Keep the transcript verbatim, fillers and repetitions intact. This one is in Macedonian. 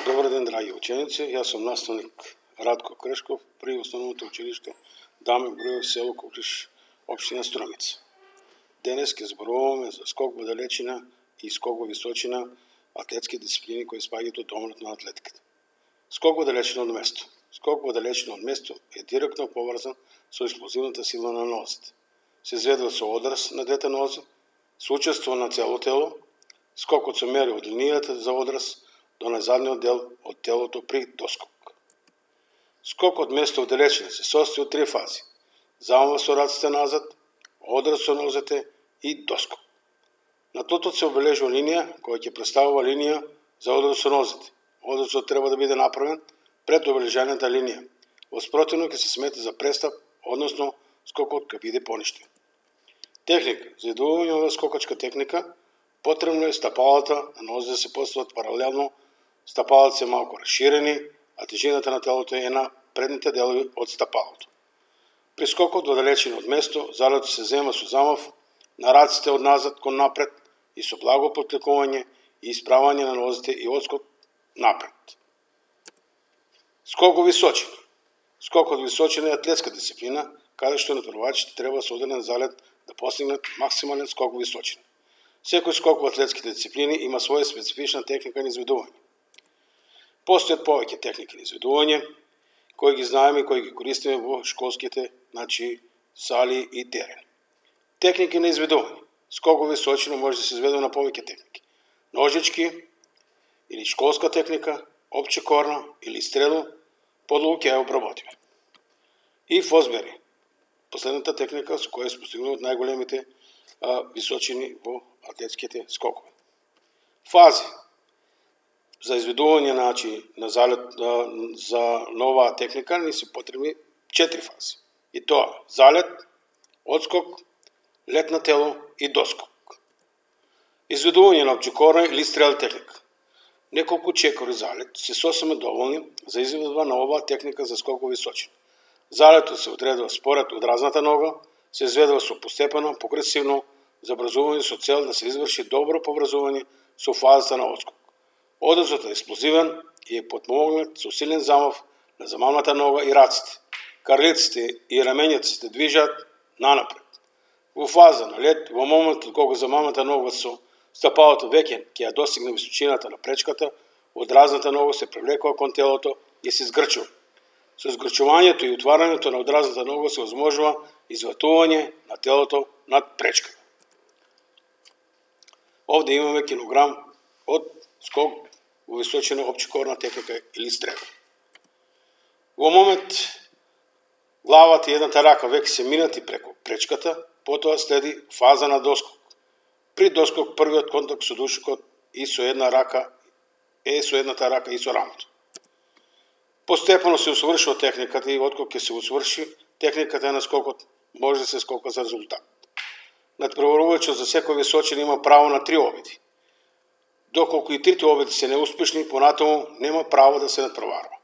Добар ден, драги ученици. Јас сум наставник Радко Крешков при Основното училиште Даме Груев, село Кукриш, општина Струмица. Денес ќе зборуваме за скок во далечина и скок во височина, атлетски дисциплини кои спаѓаат од домот на атлетиката. Скок во далечина од место. Скок во далечина од место е директно поврзан со експлозивната сила на нозите. Се изведува со одраз на двете нозе, со учество на цело тело. Скокот се мери од линијата за одраз до назадниот дел од телото при доскок. Скок од место од далечина се состои од три фази: замав со раците назад, одраз со нозете и доскок. На тотот се обележува линија која ќе представува линија за одраз со нозете. Одразот треба да биде направен пред обележаната линија. Во спротивно ќе се смета за престап, односно скокот ќе биде поништен. Техника. За изведување оваа скокачка техника потребно е стапалата на нозите да се постават паралелно, стапалата се малку расширени, а тежината на телото е на предните делови од стапалото. При скокот во далечина од место, залетот се зема со замав на раците од назад кон напред и со благо потлекување и исправање на нозите и одскок напред. Скок во височина. Скокот во височина е атлетска дисциплина, каде што натпреварувачите треба со одреден залет да постигнат максимален скок во височина. Секој скок во атлетските дисциплини има своја специфична техника на изведување. Постојат повеќе техники на изведување, кои ги знаеме и кои ги користиме во школските, значи, сали и терени. Техники на изведување. Скок во височина може да се изведува на повеќе техники: ножички или школска техника, опчекорна или стрело, подлого ќе ја обработиме. И фосбери, последната техника со која се постигнуваат најголемите а, височини во атлетските скокови. Фази. За изведување, значи, на залет а, за нова техника ни се потребни четири фази. И тоа: залет, одскок, лет на тело и доскок. Изведување на опчекорна или стрел техника. Неколку чекори залет се сосема доволни за изведба на оваа техника за скок во височина. Залетот се одредува според одразната нога, се изведува со постепено, прогресивно забрзување со цел да се изврши добро поврзување со фазата на одскок. Одразот е експлозивен и е потпомогнат со силен замав на замавната нога и раците. Карлиците и рамењата се движат нанапред. Во фаза на лет, во моментот кога замавната нога со стапалото веќе ќе ја достигне височината на пречката, одразната нога се привлекува кон телото и се згрчува. Со згрчувањето и отварањето на одразната нога се возможува изватување на телото над пречката. Овде имаме кинограм од скок во височина, опчекорна техника или стрел. Во момент главата и едната рака веќе се минати преку пречката, потоа следи фаза на доскок. При доскок првиот контакт со душекот и со една рака е со едната рака и со рамото. Постепено се усвршува техниката и откога ќе се усврши техниката на скокот, може да се скока за резултат. Натпреварувачот за секој височина има право на три обиди. Доколку и трите обиди се неуспешни, понатаму нема право да се натпреварува.